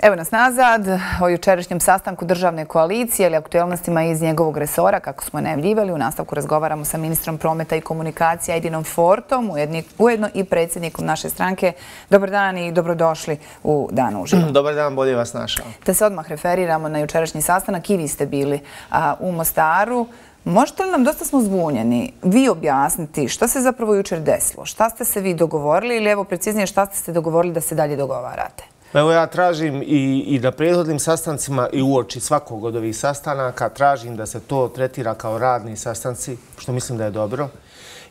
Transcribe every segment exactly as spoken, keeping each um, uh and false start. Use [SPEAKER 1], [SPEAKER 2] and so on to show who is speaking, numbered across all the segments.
[SPEAKER 1] Evo nas nazad o jučerašnjem sastanku državne koalicije ili aktuelnostima iz njegovog resora, kako smo najavljivali. U nastavku razgovaramo sa ministrom prometa i komunikacija Edinom Fortom, ujedno i predsjednikom naše stranke. Dobar dan i dobrodošli u Dan uživo.
[SPEAKER 2] Dobar dan, bolje vas našao.
[SPEAKER 1] Te se odmah referiramo na jučerašnji sastanak. I vi ste bili u Mostaru. Možete li nam, dosta smo zbunjeni, vi objasniti šta se zapravo jučer desilo? Šta ste se vi dogovorili ili evo preciznije šta ste se dogovorili da se dalje dogovarate?
[SPEAKER 2] Evo ja tražim i, i na prethodnim sastancima i uoči svakog od ovih sastanaka tražim da se to tretira kao radni sastanci, što mislim da je dobro.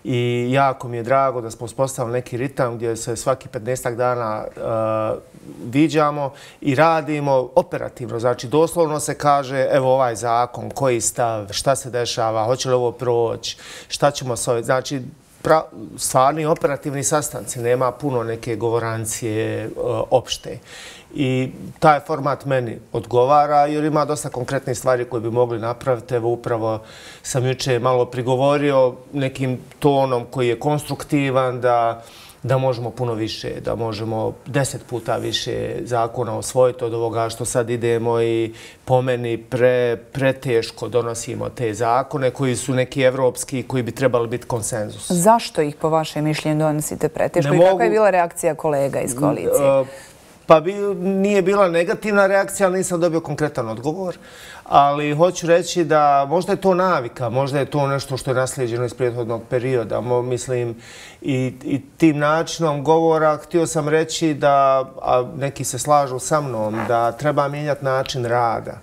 [SPEAKER 2] I jako mi je drago da smo uspostavili neki ritam gdje se svaki petnaestak dana uh, viđamo i radimo operativno. Znači, doslovno se kaže, evo ovaj zakon, koji stav, šta se dešava, hoće li ovo proći, šta ćemo s ovim. Znači, pra, stvarni operativni sastanci, nema puno neke govorancije uh, opšte. I taj format meni odgovara jer ima dosta konkretnih stvari koje bi mogli napraviti. Evo upravo sam juče malo prigovorio nekim tonom koji je konstruktivan da, da možemo puno više, da možemo deset puta više zakona osvojiti od ovoga što sad idemo i po meni pre, preteško donosimo te zakone koji su neki evropski koji bi trebali biti konsenzus.
[SPEAKER 1] Zašto ih po vašem mišljenju donosite preteško i kakva je bila reakcija kolega iz koalicije?
[SPEAKER 2] Uh, Pa bi, nije bila negativna reakcija, ali nisam dobio konkretan odgovor. Ali hoću reći da možda je to navika, možda je to nešto što je naslijeđeno iz prethodnog perioda. Mo, mislim, i, i tim načinom govora htio sam reći da, a neki se slažu sa mnom, da treba mijenjati način rada.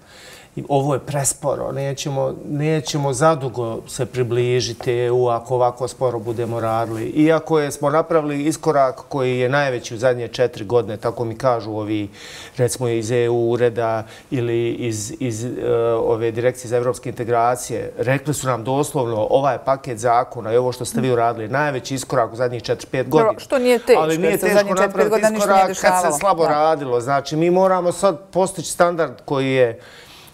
[SPEAKER 2] Ovo je presporo, nećemo, nećemo zadugo se približiti E U ako ovako sporo budemo radili. Iako je, smo napravili iskorak koji je najveći u zadnje četiri godine, tako mi kažu ovi, recimo iz E U ureda ili iz, iz uh, ove direkcije za evropske integracije, rekli su nam doslovno ovaj paket zakona i ovo što ste vi uradili, najveći iskorak u zadnjih četiri pet godina.
[SPEAKER 1] Što nije teško,
[SPEAKER 2] ali nije teško napraviti iskorak kad se slabo radilo. Znači, mi moramo sad postići standard koji je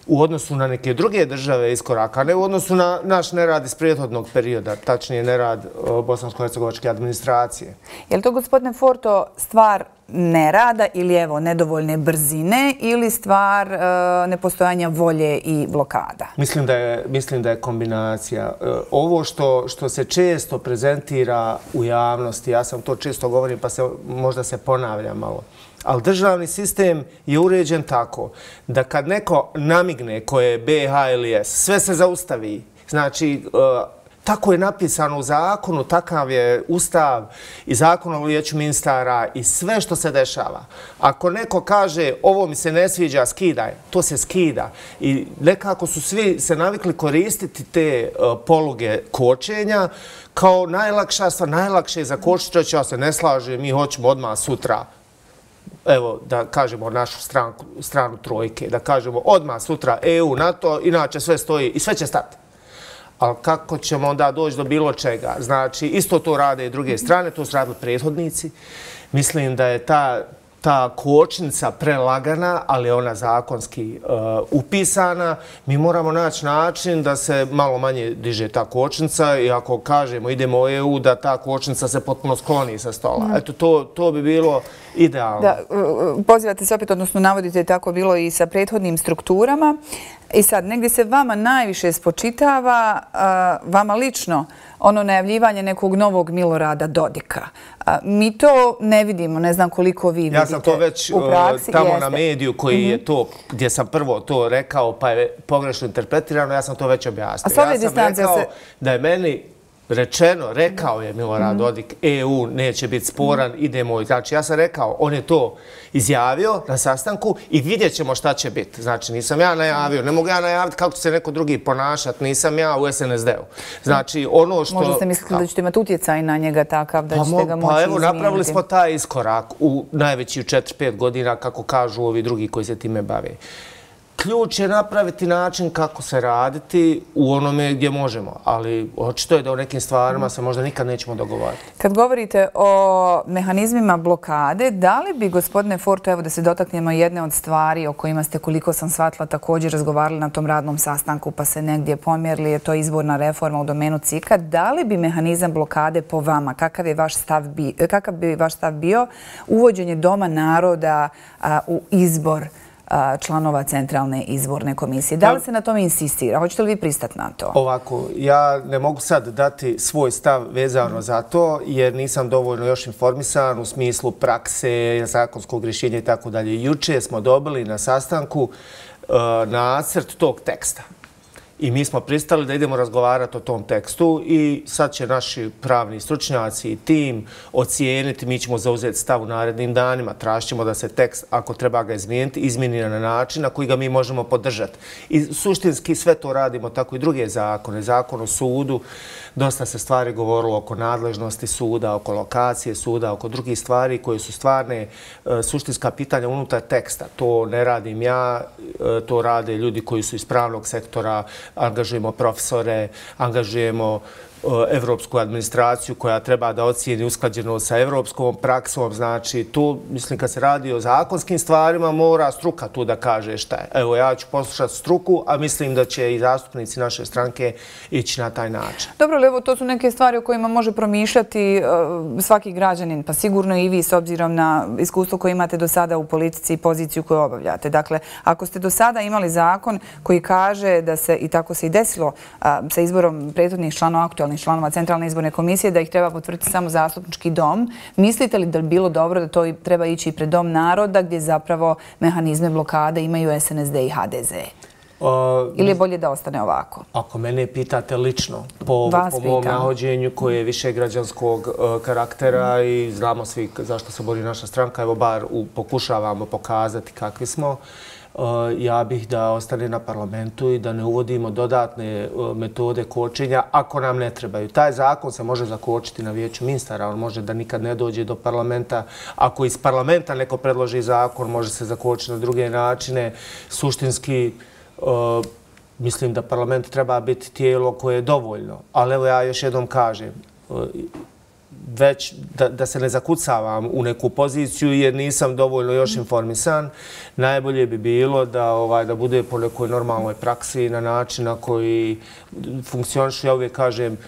[SPEAKER 2] u odnosu na neke druge države iskoraka, ne u odnosu na naš nerad iz prethodnog perioda, tačnije nerad bosansko-hercegovačke administracije.
[SPEAKER 1] Je li to, gospodine Forto, stvar nerada ili evo nedovoljne brzine ili stvar e, nepostojanja volje i blokada?
[SPEAKER 2] Mislim da je, mislim da je kombinacija. E, ovo što, što se često prezentira u javnosti, ja sam to često govorim pa se, možda se ponavljam malo, ali državni sistem je uređen tako da kad neko namigne ko je B H ili S, sve se zaustavi. Znači, tako je napisano u zakonu, takav je ustav i zakon o vijeću ministara i sve što se dešava. Ako neko kaže ovo mi se ne sviđa, skidaj, to se skida. I nekako su svi se navikli koristiti te poluge kočenja kao najlakša stvar, najlakše za kočiti, ja se ne slažem, mi hoćemo odmah sutra. Evo, da kažemo našu stranku, stranu trojke, da kažemo odmah sutra E U, NATO, inače sve stoji i sve će stati. Ali kako ćemo onda doći do bilo čega? Znači, isto to rade i druge strane, to su radili prethodnici. Mislim da je ta, ta kočnica prelagana, ali je ona zakonski uh, upisana. Mi moramo naći način da se malo manje diže ta kočnica i ako kažemo idemo u E U, da ta kočnica se potpuno skloni sa stola. Mm. Eto, to, to bi bilo idealno.
[SPEAKER 1] Da, pozivate se opet, odnosno navodite tako bilo i sa prethodnim strukturama. I sad, negdje se vama najviše spočitava, uh, vama lično, ono najavljivanje nekog novog Milorada Dodika. Uh, mi to ne vidimo, ne znam koliko vi vidite.
[SPEAKER 2] Ja sam to već
[SPEAKER 1] u praksi,
[SPEAKER 2] tamo
[SPEAKER 1] jeste.
[SPEAKER 2] Na mediju koji mm-hmm. je to, gdje sam prvo to rekao pa je pogrešno interpretirano, ja sam to već objasnio. Ja sam rekao se... da je meni rečeno, rekao je Milorad Dodik, E U neće biti sporan, idemo. Znači, ja sam rekao, on je to izjavio na sastanku i vidjet ćemo šta će biti. Znači, nisam ja najavio, ne mogu ja najaviti kako će se neko drugi ponašati, nisam ja u S N S D-u. Znači, ono što...
[SPEAKER 1] Možda ste mislili da ćete imati utjecaj na njega takav, da ćete ga moći izmijeniti?
[SPEAKER 2] Pa evo, napravili smo taj iskorak u najveći u četiri pet godina, kako kažu ovi drugi koji se time bave. ključ je napraviti način kako se raditi u onome gdje možemo, ali očito je da u nekim stvarima se možda nikad nećemo dogovarati.
[SPEAKER 1] Kad govorite o mehanizmima blokade, da li bi, gospodine Forto, evo da se dotaknemo jedne od stvari o kojima ste, koliko sam shvatila, također razgovarali na tom radnom sastanku pa se negdje pomjerili, je to izborna reforma u domenu C I K-a, da li bi mehanizam blokade po vama, kakav, je vaš stav bi, kakav bi vaš stav bio, uvođenje Doma naroda a, u izbor članova Centralne izborne komisije? Da li se na tome insistira? Hoćete li vi pristati na to?
[SPEAKER 2] Ovako, ja ne mogu sad dati svoj stav vezano za to, jer nisam dovoljno još informisan u smislu prakse, zakonskog rješenja i tako dalje. Juče smo dobili na sastanku nacrt tog teksta. I mi smo pristali da idemo razgovarati o tom tekstu i sad će naši pravni stručnjaci i tim ocijeniti, mi ćemo zauzeti stav u narednim danima. Tražit ćemo da se tekst, ako treba ga izmijeniti, izmijeni na način na koji ga mi možemo podržati. I suštinski sve to radimo, tako i druge zakone. Zakon o sudu, dosta se stvari govorilo oko nadležnosti suda, oko lokacije suda, oko drugih stvari koje su stvarne suštinska pitanja unutar teksta. To ne radim ja, to rade ljudi koji su iz pravnog sektora, angažujemo profesore, angažujemo evropsku administraciju koja treba da ocijeni usklađenost sa evropskom praksom. Znači, tu, mislim, kad se radi o zakonskim stvarima, mora struka tu da kaže šta je. Evo, ja ću poslušati struku, a mislim da će i zastupnici naše stranke ići na taj način.
[SPEAKER 1] Dobro, ali evo, to su neke stvari o kojima može promišljati svaki građanin, pa sigurno i vi s obzirom na iskustvo koje imate do sada u politici i poziciju koju obavljate. Dakle, ako ste do sada imali zakon koji kaže da se, i tako se i desilo sa izborom prethodnih članova aktualnih članova Centralne izborne komisije, da ih treba potvrditi samo zastupnički dom. Mislite li da bi bilo dobro da to treba ići i pred Dom naroda, gdje zapravo mehanizme blokade imaju S N S D i H D Z? Ili je bolje da ostane ovako?
[SPEAKER 2] Ako mene pitate lično, po mom nahođenju koje je više građanskog karaktera i znamo svi zašto se bori naša stranka, evo bar pokušavamo pokazati kakvi smo, ja bih da ostane na parlamentu i da ne uvodimo dodatne metode kočenja ako nam ne trebaju. Taj zakon se može zakočiti na vijeću ministara, on može da nikad ne dođe do parlamenta. Ako iz parlamenta neko predloži zakon, može se zakočiti na druge načine. Suštinski, mislim da parlament treba biti tijelo koje je dovoljno. Ali evo ja još jednom kažem, već da se ne zakucavam u neku poziciju jer nisam dovoljno još informisan, najbolje bi bilo da bude po nekoj normalnoj praksi na način na koji funkcionišu, ja uvijek kažem,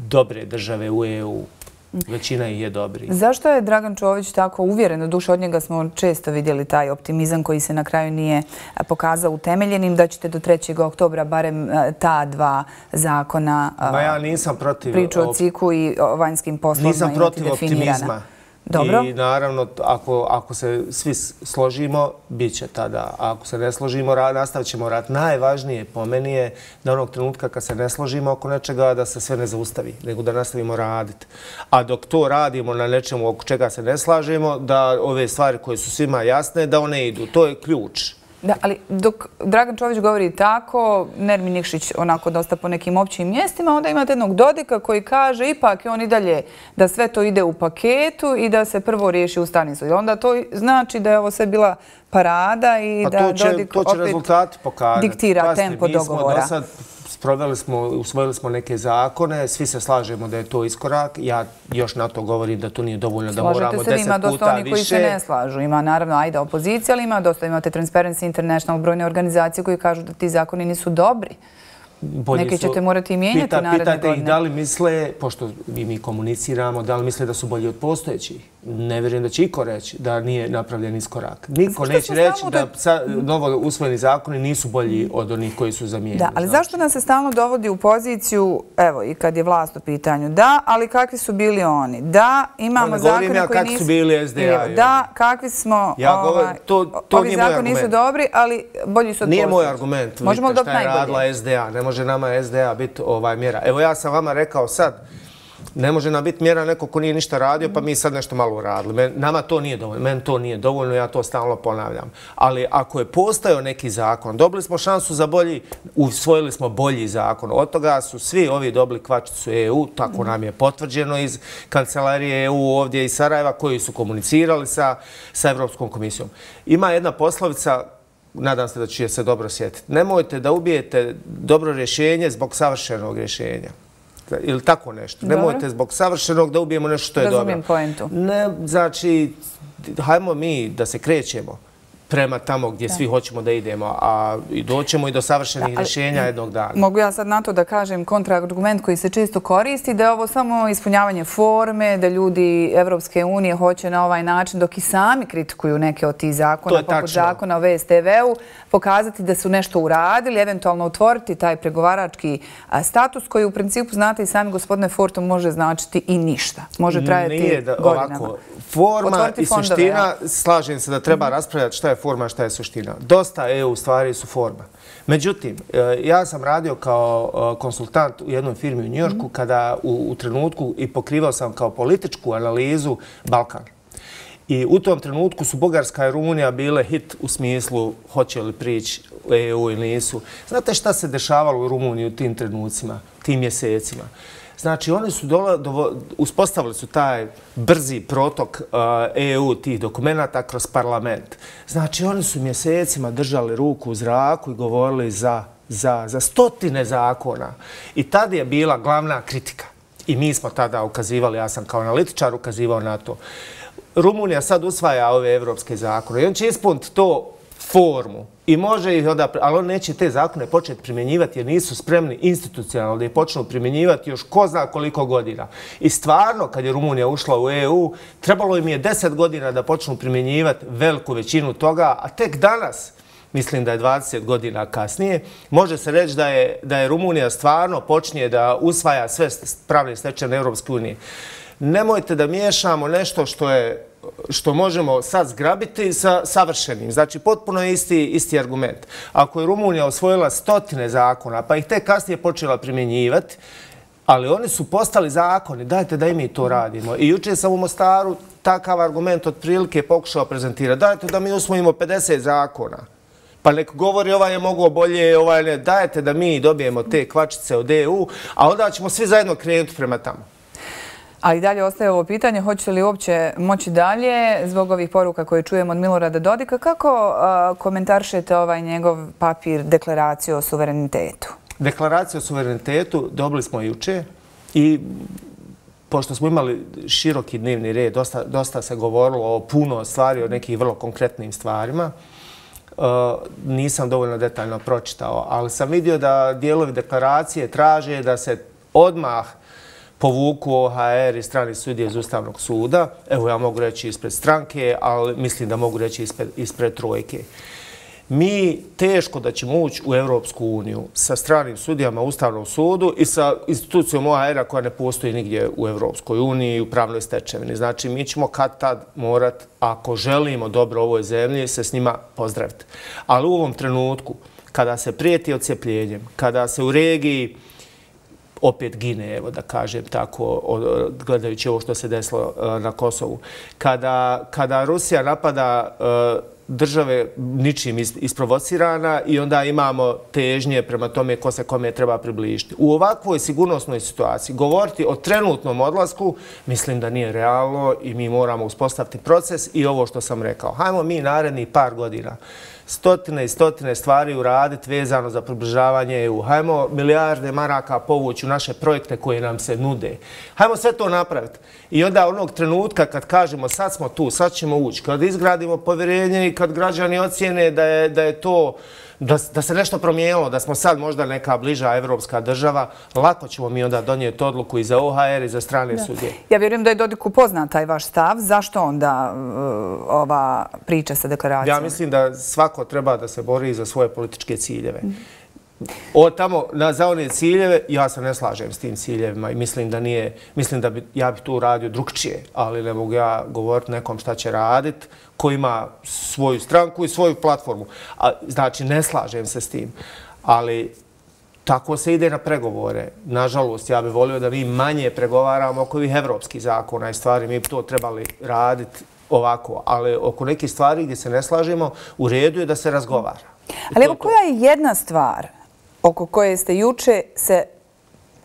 [SPEAKER 2] dobre države u E U. Većina ih je dobri.
[SPEAKER 1] Zašto je Dragan Čović tako uvjeren? Doduše, od njega smo često vidjeli taj optimizam koji se na kraju nije pokazao utemeljenim, da ćete do trećeg oktobra barem ta dva zakona, priču o C I K-u i o vanjskim poslovima, imati definirana. Dobro.
[SPEAKER 2] I naravno, ako se svi složimo, bit će tada. Ako se ne složimo, nastavit ćemo rad. Najvažnije po meni je da onog trenutka kad se ne složimo oko nečega, da se sve ne zaustavi, nego da nastavimo raditi. A dok to radimo na nečemu oko čega se ne slažemo, da ove stvari koje su svima jasne, da one idu. To je ključ.
[SPEAKER 1] Da, ali dok Dragan Čović govori tako, Nermin Nikšić onako dosta po nekim općim mjestima, onda imate jednog Dodika koji kaže ipak je on i dalje da sve to ide u paketu i da se prvo riješi Ustavni sud. Onda to znači da je ovo sve bila parada i da Dodik opet diktira tempo dogovora.
[SPEAKER 2] Sproveli smo, usvojili smo neke zakone, svi se slažemo da je to iskorak. Ja još na to govorim da to nije dovoljno, da moramo deset puta više.
[SPEAKER 1] Slažete se, ima dosta oni koji se ne slažu. Ima naravno ajda opozicija, ali ima dosta. Imate Transparency International, brojne organizacije koji kažu da ti zakoni nisu dobri. Neke ćete morati i mijenjati naredne godine.
[SPEAKER 2] Pitajte ih da li misle, pošto mi komuniciramo, da li misle da su bolji od postojećih. Ne vjerujem da će iko reći da nije napravljen iskorak. Niko neće reći da novo usvojeni zakoni nisu bolji od onih koji su zamijenjeni.
[SPEAKER 1] Da, ali zašto nas se stalno dovodi u poziciju, evo i kad je vlast u pitanju, da, ali kakvi su bili oni? Da, imamo zakone koji nisu...
[SPEAKER 2] Ne govorim ja kakvi su bili S D A.
[SPEAKER 1] Da, kakvi smo... Ovi zakoni nisu dobri, ali bolji su od postojećih.
[SPEAKER 2] Nije moj argument. Vidite šta je radila S D A. Ne može nama S D A biti mjera. Evo ja sam vama rekao sad, ne može nam biti mjera neko ko nije ništa radio, pa mi sad nešto malo uradili. Nama to nije dovoljno. Meni to nije dovoljno, ja to stalno ponavljam. Ali ako je postojao neki zakon, dobili smo šansu za bolji, usvojili smo bolji zakon. Od toga su svi ovi dobili kvačicu E U, tako nam je potvrđeno iz kancelarije E U ovdje iz Sarajeva, koji su komunicirali sa Evropskom komisijom. Ima jedna poslovica nadam se da će se dobro sjetiti. Nemojte da ubijete dobro rješenje zbog savršenog rješenja. Ili tako nešto. Nemojte zbog savršenog da ubijemo nešto što je dobro.
[SPEAKER 1] Razumijem poentu.
[SPEAKER 2] Ne, znači, hajmo mi da se krećemo prema tamo gdje svi hoćemo da idemo, a doćemo i do savršenih rješenja jednog dana.
[SPEAKER 1] Mogu ja sad na to da kažem kontraargument koji se često koristi, da je ovo samo ispunjavanje forme, da ljudi Evropske unije hoće na ovaj način, dok i sami kritikuju neke od tih zakona, poput zakona o V S T V-u, pokazati da su nešto uradili, eventualno otvoriti taj pregovarački status koji u principu, znate i sami gospodine Fortom, može značiti i ništa. Može trajati godinama.
[SPEAKER 2] Forma i suština, slažem se da treba raspravljati šta je forma, šta je suština. Dosta E U stvari su forma. Međutim, ja sam radio kao konsultant u jednoj firmi u Njujorku kada u trenutku i pokrivao sam kao političku analizu Balkan. I u tom trenutku su Bugarska i Rumunija bile hit u smislu hoće li prići u E U ili nisu. Znate šta se dešavalo u Rumuniji u tim trenucima, tim mjesecima? Znači, oni su uspostavili su taj brzi protok E U tih dokumenata kroz parlament. Znači, oni su mjesecima držali ruku u zraku i govorili za, za, za stotine zakona. I tada je bila glavna kritika. I mi smo tada ukazivali, ja sam kao analitičar ukazivao na to. Rumunija sad usvaja ove evropske zakone i on će ispuniti to formu i može ih onda, ali on neće te zakone početi primjenjivati jer nisu spremni institucionalno da ih počnu primjenjivati još ko zna koliko godina. I stvarno, kad je Rumunija ušla u E U, trebalo im je deset godina da počnu primjenjivati veliku većinu toga, a tek danas, mislim da je dvadeset godina kasnije, može se reći da je, da je Rumunija stvarno počinje da usvaja sve pravne stečevine Europske unije. Nemojte da miješamo nešto što je što možemo sad zgrabiti sa savršenim. Znači, potpuno je isti, isti argument. Ako je Rumunija osvojila stotine zakona, pa ih tek kasnije počela primjenjivati, ali oni su postali zakoni, dajte da i mi to radimo. I jučer sam u Mostaru takav argument otprilike pokušao prezentirati. Dajte da mi usvojimo pedeset zakona. Pa nek govori ovaj je mogao bolje, ovaj ne. Dajte da mi dobijemo te kvačice od E U, a onda ćemo svi zajedno krenuti prema tamo.
[SPEAKER 1] Ali dalje ostaje ovo pitanje, hoćete li uopće moći dalje zbog ovih poruka koje čujemo od Milorada Dodika? Kako komentaršete ovaj njegov papir, deklaraciju o suverenitetu?
[SPEAKER 2] Deklaraciju o suverenitetu dobili smo juče i pošto smo imali široki dnevni red, dosta, dosta se govorilo o puno stvari, o nekih vrlo konkretnim stvarima, nisam dovoljno detaljno pročitao, ali sam vidio da dijelovi deklaracije traže da se odmah povuku O H R i strani sudije iz Ustavnog suda. Evo, ja mogu reći ispred stranke, ali mislim da mogu reći ispred, ispred trojke. Mi teško da ćemo ući u Evropsku uniju sa stranim sudijama u Ustavnom sudu i sa institucijom O H R-a koja ne postoji nigdje u Evropskoj uniji i u pravnoj stečevini. Znači, mi ćemo kad tad morat, ako želimo dobro ovoj zemlji, se s njima pozdraviti. Ali u ovom trenutku, kada se prijeti odcepljenjem, kada se u regiji opet gine, evo da kažem tako, gledajući ovo što se desilo na Kosovu. Kada, kada Rusija napada države ničim isprovocirana i onda imamo težnje prema tome ko se kome treba približiti. U ovakvoj sigurnosnoj situaciji govoriti o trenutnom odlasku mislim da nije realno i mi moramo uspostaviti proces i ovo što sam rekao. Hajmo mi narednih par godina stotine i stotine stvari uraditi vezano za približavanje E U. Hajmo milijarde maraka povući u naše projekte koje nam se nude. Hajmo sve to napraviti. I onda onog trenutka kad kažemo sad smo tu, sad ćemo ući, kad izgradimo povjerenje i kad građani ocijene da je, da je to Da, da se nešto promijenilo, da smo sad možda neka bliža evropska država, lako ćemo mi onda donijeti odluku i za O H R i za strane sudije.
[SPEAKER 1] Ja vjerujem da je Dodiku poznat taj vaš stav. Zašto onda ova priča sa deklaracijom?
[SPEAKER 2] Ja mislim da svako treba da se bori za svoje političke ciljeve. O tamo, za one ciljeve, ja se ne slažem s tim ciljevima i mislim da nije, mislim da bi, ja bih tu radio drugčije, ali ne mogu ja govoriti nekom šta će raditi, ko ima svoju stranku i svoju platformu. A, znači, ne slažem se s tim, ali tako se ide na pregovore. Nažalost, ja bih volio da mi manje pregovaramo oko ovih evropskih zakona i stvari, mi bi to trebali raditi ovako, ali oko nekih stvari gdje se ne slažemo, u redu je da se razgovara.
[SPEAKER 1] Ali evo, koja je jedna stvar oko koje ste juče se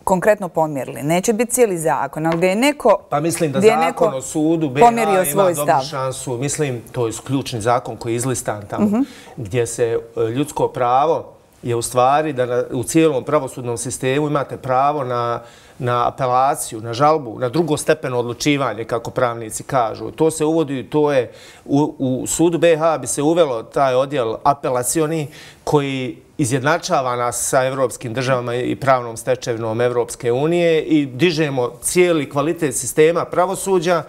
[SPEAKER 1] konkretno pomjerili. Neće biti cijeli zakon, ali gdje je neko...
[SPEAKER 2] Pa mislim da zakon o sudu B H ima dobru šansu. Mislim, to je ključni zakon koji je izlistan tamo, gdje se ljudsko pravo je u stvari da u cijelom pravosudnom sistemu imate pravo na na apelaciju, na žalbu, na drugostepeno odlučivanje, kako pravnici kažu. To se uvodi, to je u, u sudu B H bi se uvelo taj odjel apelacioni koji izjednačava nas sa evropskim državama i pravnom stečevinom Evropske unije i dižemo cijeli kvalitet sistema pravosuđa.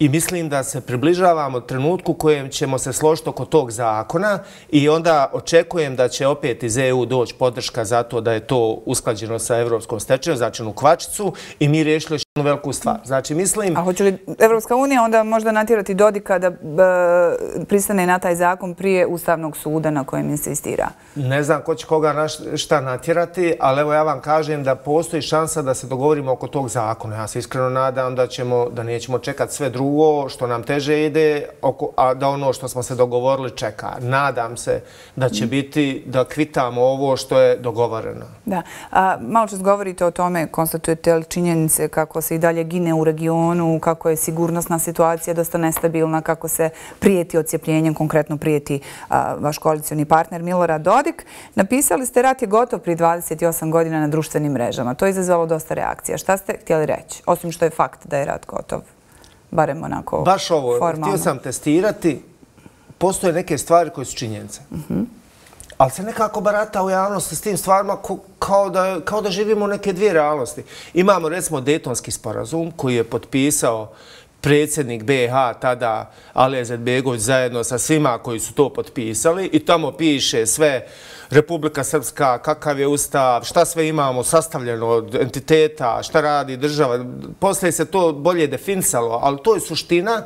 [SPEAKER 2] I mislim da se približavamo trenutku kojem ćemo se složiti oko tog zakona i onda očekujem da će opet iz E U doći podrška za to da je to usklađeno sa evropskom stečevinom, znači u kvačicu i mi riješili još jednu veliku stvar. Znači mislim...
[SPEAKER 1] A hoće li Evropska unija onda možda natjerati Dodika da pristane na taj zakon prije Ustavnog suda na kojem insistira?
[SPEAKER 2] Ne znam ko će koga na šta natjerati, ali evo ja vam kažem da postoji šansa da se dogovorimo oko tog zakona. Ja se iskreno nadam da ćemo, da nećemo čekati sve drugo što nam teže ide, a da ono što smo se dogovorili čeka. Nadam se da će biti da kvitamo ovo što je dogovoreno.
[SPEAKER 1] Da. Malo čas govorite o tome, konstatujete li činjenice kako se i dalje gine u regionu, kako je sigurnosna situacija dosta nestabilna, kako se prijeti odcijepljenjem, konkretno prijeti vaš koalicioni partner Milorad Dodik. Napisali ste rat je gotov prije dvadeset osam godina na društvenim mrežama. To je izazvalo dosta reakcija. Šta ste htjeli reći? Osim što je fakt da je rat gotov. Barem onako formalno.
[SPEAKER 2] Baš ovo, htio sam testirati. Postoje neke stvari koje su činjenice. Ali se nekako barata u javnosti s tim stvarima kao da živimo u neke dvije realnosti. Imamo recimo Dejtonski sporazum koji je potpisao predsjednik B H tada Alija Izetbegović zajedno sa svima koji su to potpisali i tamo piše sve Republika Srpska, kakav je ustav, šta sve imamo sastavljeno od entiteta, šta radi država. Poslije se to bolje definisalo, ali to je suština.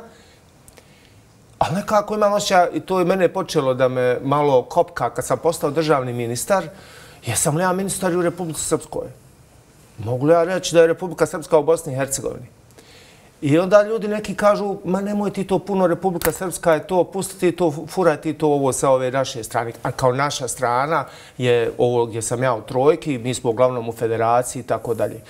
[SPEAKER 2] Ali nekako imam osjećaj, i to je mene počelo da me malo kopka kad sam postao državni ministar, jesam li ja ministar u Republici Srpskoj? Mogu li ja reći da je Republika Srpska u Bosni i Hercegovini? I onda ljudi neki kažu, ma nemoj ti to puno, Republika Srpska je to, pustiti to, furati to ovo sa ove naše strane. A kao naša strana je ovo gdje sam ja u trojki, mi smo uglavnom u federaciji i tako dalje.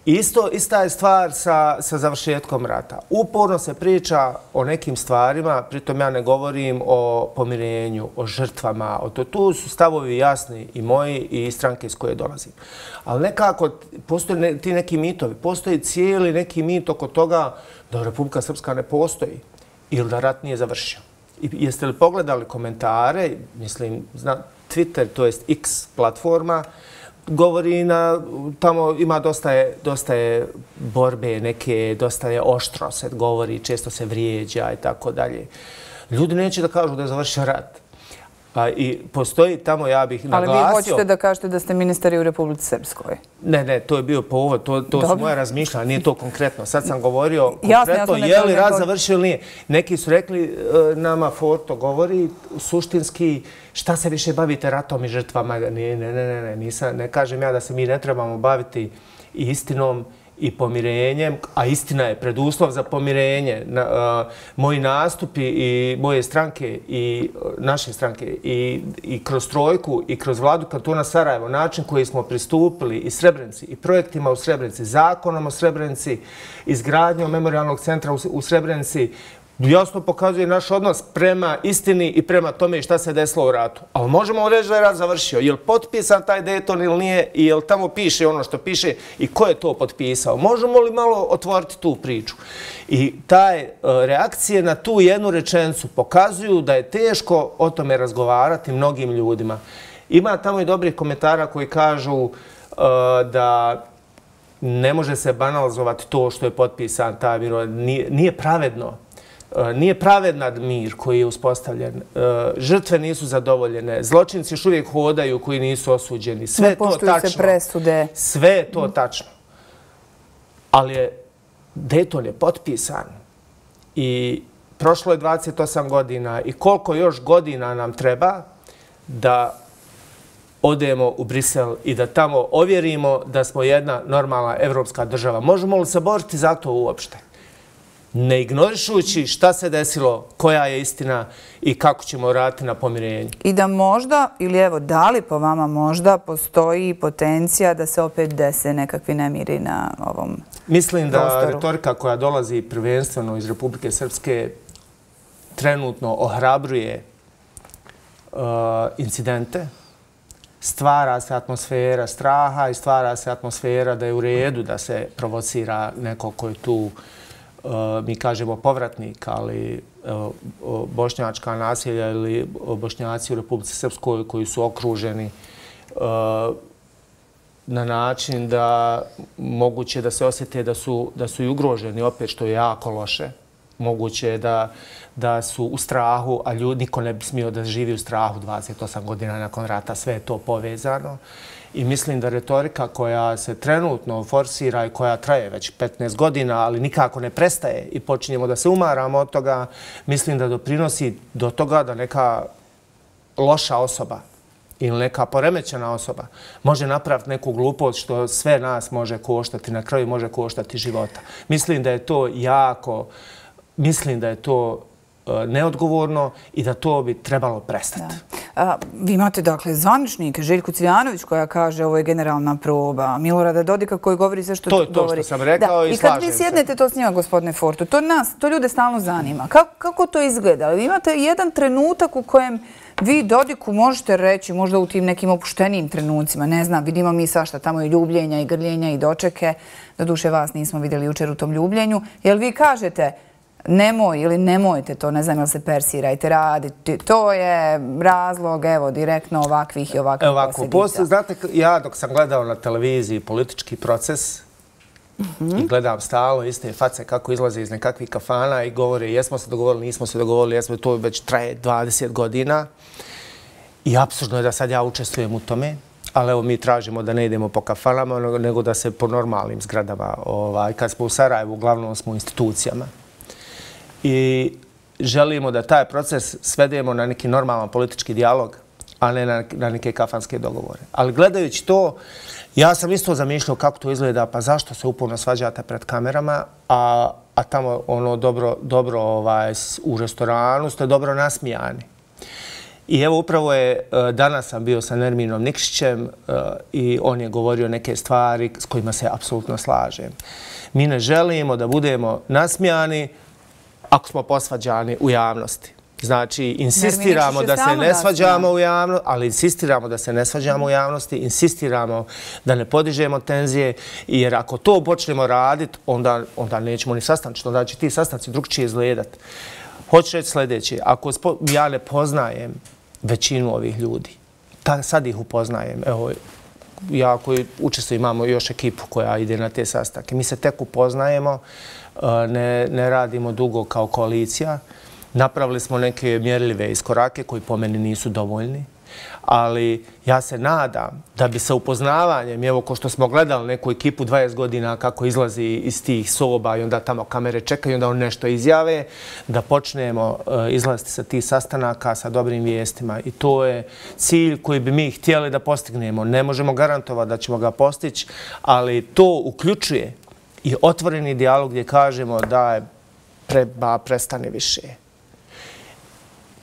[SPEAKER 2] Isto, ista je stvar sa, sa završetkom rata. Uporno se priča o nekim stvarima, pritom ja ne govorim o pomirenju, o žrtvama, o to. Tu su stavovi jasni i moji i stranke iz koje dolazim. Ali nekako postoje ne, ti neki mitovi, postoji cijeli neki mit oko toga da Republika Srpska ne postoji ili da rat nije završio. I jeste li pogledali komentare, mislim, zna, Twitter, to jest X platforma, govori na, tamo ima dosta je, dosta je borbe neke, dosta je oštro se govori, često se vrijeđa i tako dalje. Ljudi neće da kažu da je završio rat. A, I postoji tamo, ja bih naglasio...
[SPEAKER 1] Ali vi hoćete da kažete da ste ministari u Republici Srpskoj?
[SPEAKER 2] Ne, ne, to je bio povod, to, to su moja razmišljanja, nije to konkretno. Sad sam govorio konkretno, jasno, je li rat završio ili nije. Neki su rekli, nama Forto govori, suštinski, šta se više bavite ratom i žrtvama? Ne, ne, ne, ne, ne, nisam, ne kažem ja da se mi ne trebamo baviti istinom i pomirenjem, a istina je preduslov za pomirenje. Na, uh, moji nastupi i moje stranke i uh, naše stranke i, i kroz Trojku i kroz vladu kantona Sarajevo, način koji smo pristupili i Srebrenici i projektima u Srebrenici, zakonom o Srebrenici, izgradnjom memorialnog centra u, u Srebrenici, jasno pokazuje naš odnos prema istini i prema tome šta se desilo u ratu. Ali možemo reći da je rat završio. Je li potpisan taj Dayton ili nije i je li tamo piše ono što piše i ko je to potpisao? Možemo li malo otvoriti tu priču? I taj reakcije na tu jednu rečenicu pokazuju da je teško o tome razgovarati mnogim ljudima. Ima tamo i dobrih komentara koji kažu uh, da ne može se banalizovati to što je potpisan taj mir. Nije, nije pravedno. Nije pravedan mir koji je uspostavljen. Žrtve nisu zadovoljene. Zločinci još uvijek hodaju koji nisu osuđeni. Sve je to tačno.
[SPEAKER 1] Ne poštuju se presude.
[SPEAKER 2] Sve je to tačno. Ali je Dayton je potpisan i prošlo je dvadeset osam godina i koliko još godina nam treba da odemo u Brisel i da tamo ovjerimo da smo jedna normalna evropska država. Možemo li se boriti za to uopšte? ne ignorišujući šta se desilo, koja je istina i kako ćemo raditi na pomirenju.
[SPEAKER 1] I da možda, ili evo, da li po vama možda postoji potencija da se opet dese nekakvi nemiri na ovom prostoru?
[SPEAKER 2] Mislim da retorika koja dolazi prvenstveno iz Republike Srpske trenutno ohrabruje incidente, stvara se atmosfera straha i stvara se atmosfera da je u redu da se provocira neko ko je tu, mi kažemo povratnik, ali bošnjačka naselja ili bošnjaci u Republici Srpskoj koji su okruženi na način da moguće da se osjete da su, da su i ugroženi, opet što je jako loše. Moguće je da, da su u strahu, a ljudi, niko ne bi smio da živi u strahu dvadeset osam godina nakon rata, sve je to povezano. I mislim da retorika koja se trenutno forsira i koja traje već petnaest godina, ali nikako ne prestaje i počinjemo da se umaramo od toga, mislim da doprinosi do toga da neka loša osoba ili neka poremećena osoba može napraviti neku glupost što sve nas može koštati, na kraju može koštati života. Mislim da je to jako, mislim da je to neodgovorno i da to bi trebalo prestati.
[SPEAKER 1] A, vi imate, dakle, zvaničnike, Željku Cvijanović koja kaže ovo je generalna proba, Milorada Dodika koji govori sve što govori.
[SPEAKER 2] To je to što sam rekao i slažem se.
[SPEAKER 1] I kad vi sjednete to s njima, gospodine Fortu, to nas, to ljude stalno zanima. Kako, kako to izgleda? Vi imate jedan trenutak u kojem vi Dodiku možete reći, možda u tim nekim opuštenijim trenucima, ne znam, vidimo mi svašta tamo i ljubljenja i grljenja i dočeke, doduše vas nismo vidjeli jučer u tom ljubljenju, jel vi kažete nemoj ili nemojte to, ne znam jel se persirajte raditi, to je razlog, evo, direktno ovakvih i ovakvih posljedica.
[SPEAKER 2] Znate, ja dok sam gledao na televiziji politički proces i gledam stalno iste face kako izlaze iz nekakvih kafana i govore jesmo se dogovorili, nismo se dogovorili, jesmo, to već traje dvadeset godina i apsurdno je da sad ja učestvujem u tome. Ali evo mi tražimo da ne idemo po kafanama, nego da se po normalnim zgradama. Kad smo u Sarajevu, uglavnom smo u institucijama. I želimo da taj proces svedemo na neki normalan politički dijalog, a ne na, na neke kafanske dogovore. Ali gledajući to, ja sam isto zamišljao kako to izgleda, pa zašto se uporno svađate pred kamerama, a, a tamo ono dobro, dobro ovaj, u restoranu ste dobro nasmijani. I evo upravo je, danas sam bio sa Nerminom Nikšićem i on je govorio neke stvari s kojima se apsolutno slažem. Mi ne želimo da budemo nasmijani ako smo posvađani u javnosti. Znači, insistiramo da se ne svađamo u javnosti, ali insistiramo da se ne svađamo u javnosti, insistiramo da ne podižemo tenzije, jer ako to počnemo raditi, onda, onda nećemo ni sastančiti, onda će ti sastanci drugčije izgledati. Hoću reći sljedeće, ako ja ne poznajem većinu ovih ljudi, sad ih upoznajem, evo, ja koji učestvujem, imamo još ekipu koja ide na te sastanke, mi se tek upoznajemo, ne, ne radimo dugo kao koalicija, napravili smo neke mjerljive iskorake koji po meni nisu dovoljni, ali ja se nadam da bi sa upoznavanjem, evo ko što smo gledali neku ekipu dvadeset godina kako izlazi iz tih soba i onda tamo kamere čekaju, onda oni nešto izjave, da počnemo izlaziti sa tih sastanaka sa dobrim vijestima. I to je cilj koji bi mi htjeli da postignemo. Ne možemo garantovati da ćemo ga postići, ali to uključuje i otvoreni dijalog gdje kažemo da je treba prestane više.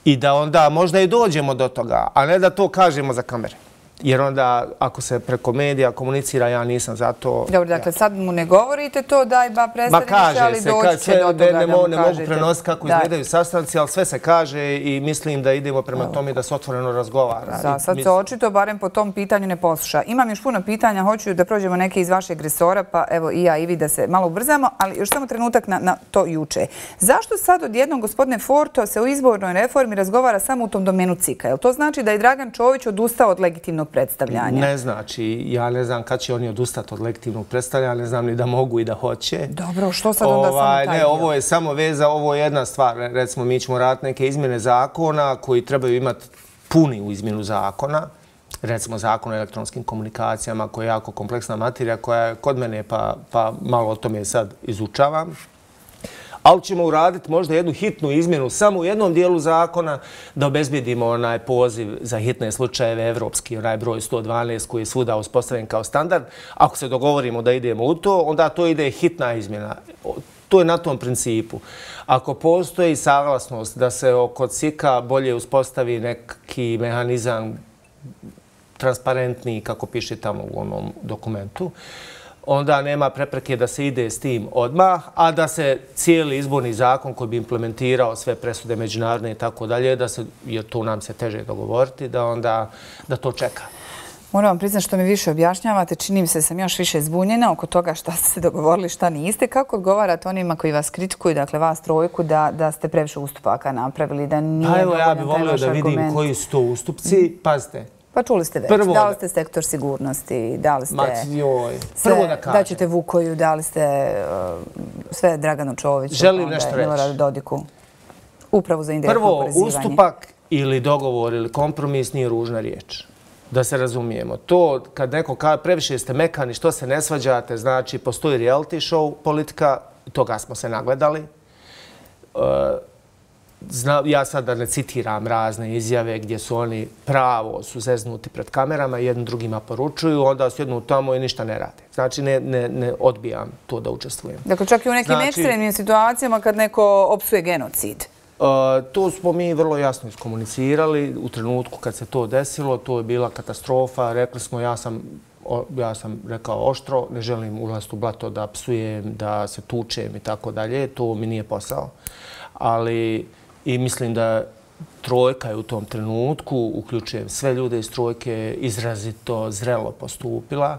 [SPEAKER 2] I da onda možda i dođemo do toga, a ne da to kažemo za kamere. Jer onda, ako se preko medija komunicira, ja nisam za to...
[SPEAKER 1] Dobro, dakle, sad mu ne govorite to, daj ba prestane više, ali doći će do toga da mu kažete.
[SPEAKER 2] Ne mogu prenositi kako izgledaju sastanci, ali sve se kaže i mislim da idemo prema tome da se otvoreno razgovara.
[SPEAKER 1] Za sad se očito, barem po tom pitanju, ne posluša. Imam još puno pitanja, hoću da prođemo neke iz vašeg resora, pa evo i ja i vi da se malo ubrzamo, ali još samo trenutak na to juče. Zašto sad odjednom, gospodine Forto, se u izbornoj reformi razgovara samo u tom domenu C I K-a? Jel to znači da je Dragan Čović odustao od legitimnog predstavljanja?
[SPEAKER 2] Ne znači. Ja ne znam kad će oni odustati od legitimnog predstavljanja, ne znam ni da mogu i da hoće.
[SPEAKER 1] Dobro, što sad onda samo taj dio?
[SPEAKER 2] Ne, ovo je samo veza, ovo je jedna stvar. Recimo, mi ćemo raditi neke izmjene zakona koji trebaju imati puni izmjenu zakona. Recimo, zakon o elektronskim komunikacijama koja je jako kompleksna materija koja je kod mene pa malo o tome sad izučavam. Ali ćemo uraditi možda jednu hitnu izmjenu samo u jednom dijelu zakona da obezbijedimo onaj poziv za hitne slučajeve evropski, onaj broj sto dvanaest koji je svuda uspostavljen kao standard. Ako se dogovorimo da idemo u to, onda to ide hitna izmjena. To je na tom principu. Ako postoji saglasnost da se oko C I K-a bolje uspostavi neki mehanizam transparentniji, kako piše tamo u onom dokumentu, onda nema prepreke da se ide s tim odmah, a da se cijeli izborni zakon koji bi implementirao sve presude međunarodne i tako dalje, da se, jer tu nam se teže dogovoriti, da onda da to čeka.
[SPEAKER 1] Moram vam priznati što mi više objašnjavate, čini mi se da sam još više zbunjena oko toga šta ste se dogovorili, šta niste. Kako odgovarate onima koji vas kritikuju, dakle vas trojku, da, da ste previše ustupaka napravili, da nije
[SPEAKER 2] pa evo, ja bih
[SPEAKER 1] dovoljan taj
[SPEAKER 2] volio
[SPEAKER 1] vaš
[SPEAKER 2] da vidim
[SPEAKER 1] argument?
[SPEAKER 2] koji su to ustupci. Pazite.
[SPEAKER 1] Pa čuli ste već,
[SPEAKER 2] Prvo
[SPEAKER 1] dali
[SPEAKER 2] da-
[SPEAKER 1] ste sektor sigurnosti, dali ste
[SPEAKER 2] Ma, joj.
[SPEAKER 1] sve,
[SPEAKER 2] Prvo da kažem.
[SPEAKER 1] daćete Vukoju, dali ste uh, sve Draganu Čoviću,
[SPEAKER 2] Želim
[SPEAKER 1] onda
[SPEAKER 2] nešto reći.
[SPEAKER 1] Miloradu Dodiku, upravu za indirektno
[SPEAKER 2] Prvo,
[SPEAKER 1] oporezivanje.
[SPEAKER 2] ustupak ili dogovor ili kompromis nije ružna riječ. Da se razumijemo. To kad neko kaže previše ste mekani, što se ne svađate, znači postoji reality show politika, toga smo se nagledali. E, Zna, ja sad da ne citiram razne izjave gdje su oni pravo su zeznuti pred kamerama, jednim drugima poručuju, onda sjednu tamo i ništa ne rade. Znači ne, ne, ne odbijam to da učestvujem.
[SPEAKER 1] Dakle, čak i u nekim
[SPEAKER 2] Znači-
[SPEAKER 1] ekstremnim situacijama kad neko opsuje genocid.
[SPEAKER 2] Uh, to smo mi vrlo jasno iskomunicirali u trenutku kad se to desilo, to je bila katastrofa, rekli smo ja sam, o, ja sam rekao oštro, ne želim ulaziti u blato da psujem, da se tučem i tako dalje, to mi nije posao. Ali i mislim da trojka je u tom trenutku, uključujem sve ljude iz trojke, izrazito zrelo postupila.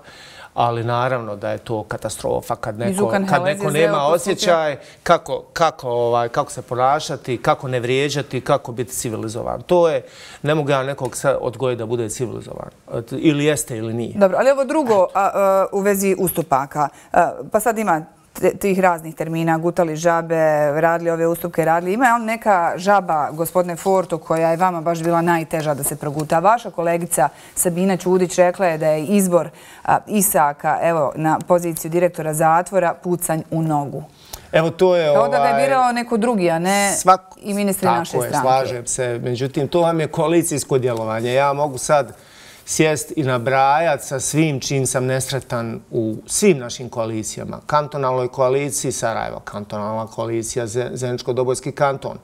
[SPEAKER 2] Ali naravno da je to katastrofa kad neko,
[SPEAKER 1] Žukan
[SPEAKER 2] kad
[SPEAKER 1] Helez
[SPEAKER 2] neko
[SPEAKER 1] je
[SPEAKER 2] nema
[SPEAKER 1] zreo postupio.
[SPEAKER 2] osjećaj kako, kako, ovaj, kako se ponašati, kako ne vrijeđati, kako biti civilizovan. To je, ne mogu ja nekog sad odgojiti da bude civilizovan. Ili jeste ili nije.
[SPEAKER 1] Dobro, ali ovo drugo a, a, u vezi ustupaka. A, pa sad ima te- tih raznih termina, gutali žabe, radili ove ustupke, radili. Ima li neka žaba, gospodine Forto, koja je vama baš bila najteža da se proguta? Vaša kolegica Sabina Ćudić rekla je da je izbor a, Isaka, evo, na poziciju direktora zatvora pucanj u nogu.
[SPEAKER 2] Evo to je...
[SPEAKER 1] Kao da ga je
[SPEAKER 2] ovaj,
[SPEAKER 1] birao neko drugi, a ne
[SPEAKER 2] svako-
[SPEAKER 1] i ministri
[SPEAKER 2] tako
[SPEAKER 1] naše
[SPEAKER 2] je,
[SPEAKER 1] stranke.
[SPEAKER 2] slažem se. Međutim, to vam je koalicijsko djelovanje. Ja mogu sad sjest i nabrajati sa svim čim sam nesretan u svim našim koalicijama. Kantonalnoj koaliciji Sarajevo, kantonalna koalicija Zeničko-Dobojski kanton,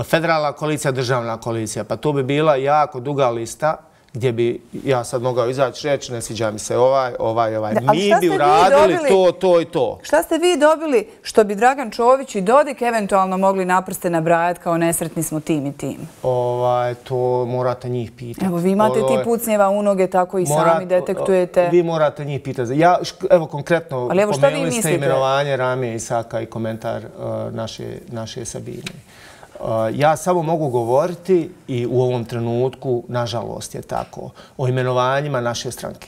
[SPEAKER 2] federalna koalicija, državna koalicija. Pa to bi bila jako duga lista gdje bi ja sad mogao izaći reći ne sviđa mi se ovaj, ovaj, ovaj.
[SPEAKER 1] Da, ali
[SPEAKER 2] Mi
[SPEAKER 1] šta
[SPEAKER 2] bi
[SPEAKER 1] ste vi
[SPEAKER 2] uradili
[SPEAKER 1] dobili?
[SPEAKER 2] to, to i to.
[SPEAKER 1] Šta ste vi dobili što bi Dragan Čović i Dodik eventualno mogli naprste nabrajati kao nesretni smo tim i tim?
[SPEAKER 2] Ovaj, to morate njih pitati.
[SPEAKER 1] Evo, vi imate
[SPEAKER 2] Ovo je-
[SPEAKER 1] ti pucnjeva u noge, tako i
[SPEAKER 2] Morat-
[SPEAKER 1] sami detektujete.
[SPEAKER 2] Vi morate njih pitati. Ja, šk- evo konkretno,
[SPEAKER 1] Ali evo, šta vi
[SPEAKER 2] pomenuli ste
[SPEAKER 1] mislite?
[SPEAKER 2] imenovanje Ramije Isaka i komentar uh, naše, naše Sabine. Uh, ja samo mogu govoriti i u ovom trenutku, nažalost je tako, o imenovanjima naše stranke.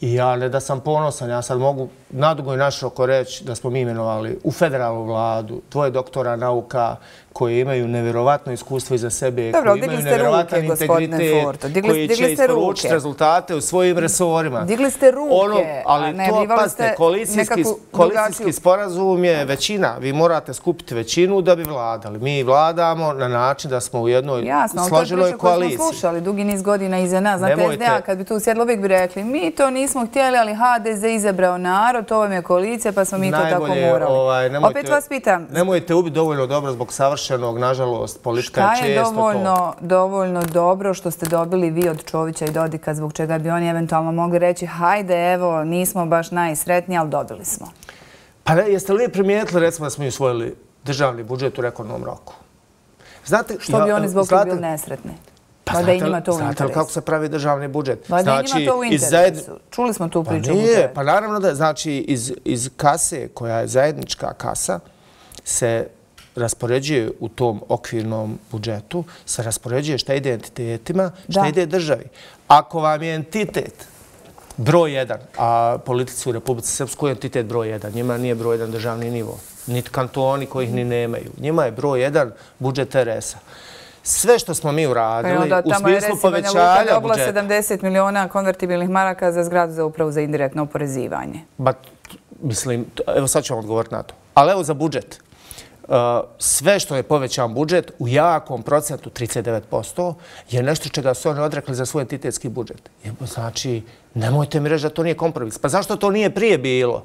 [SPEAKER 2] I ja ne da sam ponosan, ja sad mogu nadugo i naširoko reći da smo mi imenovali u federalnu vladu dvoje doktora nauka koji imaju nevjerovatno iskustvo iza sebe,
[SPEAKER 1] Dobro,
[SPEAKER 2] koji
[SPEAKER 1] digli
[SPEAKER 2] imaju
[SPEAKER 1] ste
[SPEAKER 2] nevjerovatan
[SPEAKER 1] ruke, gospodine
[SPEAKER 2] integritet,
[SPEAKER 1] Forto. Digli-
[SPEAKER 2] koji
[SPEAKER 1] digli
[SPEAKER 2] će
[SPEAKER 1] ste ruke.
[SPEAKER 2] isporučiti rezultate u svojim resorima.
[SPEAKER 1] Digli ste ruke,
[SPEAKER 2] Ono, ali
[SPEAKER 1] a
[SPEAKER 2] to,
[SPEAKER 1] najavljivali
[SPEAKER 2] pazite,
[SPEAKER 1] ste
[SPEAKER 2] koalicijski,
[SPEAKER 1] nekakvu
[SPEAKER 2] koalicijski
[SPEAKER 1] drugačiju-
[SPEAKER 2] sporazum je većina. Vi morate skupiti većinu da bi vladali. Mi vladamo na način da smo u jednoj
[SPEAKER 1] Jasno, ali to je
[SPEAKER 2] složenoj
[SPEAKER 1] priča koju
[SPEAKER 2] koaliciji.
[SPEAKER 1] smo slušali dugi niz godina iza nas. Znate,
[SPEAKER 2] Nemojte-
[SPEAKER 1] S D A kad bi tu sjedli uvijek bi rekli mi to nismo htjeli, ali H D Z izabrao narod, to vam je koalicija, pa smo mi to tako
[SPEAKER 2] Najbolje,
[SPEAKER 1] morali.
[SPEAKER 2] ovaj, nemojte-
[SPEAKER 1] Opet vas pitam,
[SPEAKER 2] Nemojte ubiti dovoljno dobro zbog savršenog, nažalost, politika
[SPEAKER 1] šta
[SPEAKER 2] je
[SPEAKER 1] je
[SPEAKER 2] često to.
[SPEAKER 1] dovoljno, dovoljno dobro što ste dobili vi od Čovića i Dodika, zbog čega bi oni eventualno mogli reći hajde, evo, nismo baš najsretniji, ali dobili smo.
[SPEAKER 2] Pa ne, jeste li primijetili, recimo, da smo usvojili državni budžet u rekordnom roku? Znate,
[SPEAKER 1] Što bi
[SPEAKER 2] ja-
[SPEAKER 1] oni zbog toga
[SPEAKER 2] znate-
[SPEAKER 1] bili nesretni?
[SPEAKER 2] Pa
[SPEAKER 1] Valjda i
[SPEAKER 2] znate li-
[SPEAKER 1] njima to u
[SPEAKER 2] znate li
[SPEAKER 1] interesu.
[SPEAKER 2] kako se pravi državni budžet?
[SPEAKER 1] Valjda i njima to u
[SPEAKER 2] iz zajedni-
[SPEAKER 1] interesu. Čuli smo tu
[SPEAKER 2] Pa
[SPEAKER 1] priču.
[SPEAKER 2] nije, pa naravno da, znači, iz, iz kase, koja je zajednička kasa, se raspoređuje u tom okvirnom budžetu, se raspoređuje šta ide entitetima, šta
[SPEAKER 1] Da.
[SPEAKER 2] ide državi. Ako vam je entitet broj jedan, a politici u Republici Srpskoj je entitet broj jedan, njima nije broj jedan državni nivo, niti kantoni kojih ni nemaju. Njima je broj jedan budžet R S-a. Sve što smo mi
[SPEAKER 1] Pa i
[SPEAKER 2] uradili
[SPEAKER 1] onda
[SPEAKER 2] u
[SPEAKER 1] tamo je
[SPEAKER 2] smislu
[SPEAKER 1] recimo Banja Luka
[SPEAKER 2] povećanja
[SPEAKER 1] dobila
[SPEAKER 2] budžeta.
[SPEAKER 1] sedamdeset miliona konvertibilnih maraka za zgradu za upravu za indirektno oporezivanje.
[SPEAKER 2] Ba, mislim, to- evo sad ću vam odgovoriti na to. Ali evo za budžet. Uh, sve što je povećan budžet u jakom procentu, trideset devet posto, je nešto čega su oni odrekli za svoj entitetski budžet. I, znači, nemojte mi reći da to nije kompromis. Pa zašto to nije prije bilo?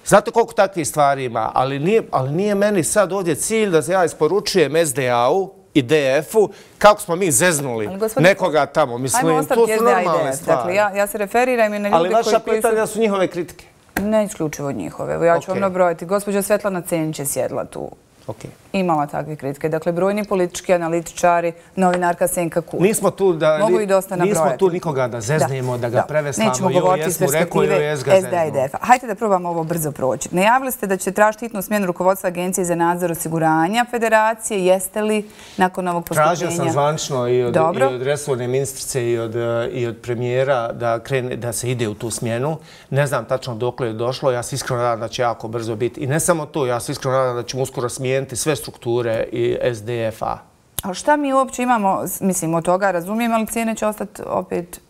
[SPEAKER 2] Znate koliko takvih stvari ima, ali nije, ali nije meni sad ovdje cilj da ja isporučujem S D A-u i D F-u kako smo mi zeznuli nekoga tamo. Mislim, to su normalne stvari.
[SPEAKER 1] Dakle, ja, ja se referiram i na ljude
[SPEAKER 2] ali
[SPEAKER 1] koji,
[SPEAKER 2] vaša
[SPEAKER 1] koji
[SPEAKER 2] pitanja su... su njihove kritike.
[SPEAKER 1] Ne isključivo njihove. Evo, ja ću okay. vam nabrojati. Gospođa Svetlana Cenić je sjedla tu.
[SPEAKER 2] Okay.
[SPEAKER 1] Imala takve kritike. Dakle, brojni politički analitičari, novinarka Senka Kulić.
[SPEAKER 2] Nismo tu da
[SPEAKER 1] Mogu i dosta nabrojati.
[SPEAKER 2] Nismo tu nikoga da zeznemo, da, da ga da. preveslamo.
[SPEAKER 1] Nećemo govoriti iz perspektive
[SPEAKER 2] S D A
[SPEAKER 1] i D F-a. Hajde da probamo ovo brzo proći. Najavili ste da ćete tražiti hitnu smjenu rukovodstva Agencije za nadzor osiguranja Federacije. Jeste li nakon ovog postupljenja?
[SPEAKER 2] Tražio sam zvančno i od, i od resorne ministrice i od, i od premijera da, krene, da se ide u tu smjenu. Ne znam tačno dokle je došlo. Ja se iskreno nadam da će jako brzo biti. I ne samo to, ja se iskreno nadam da ćemo uskoro smijeniti sve strukture i S D F-a.
[SPEAKER 1] A šta mi uopće imamo, mislim, od toga razumijem, ali cijene će ostati opet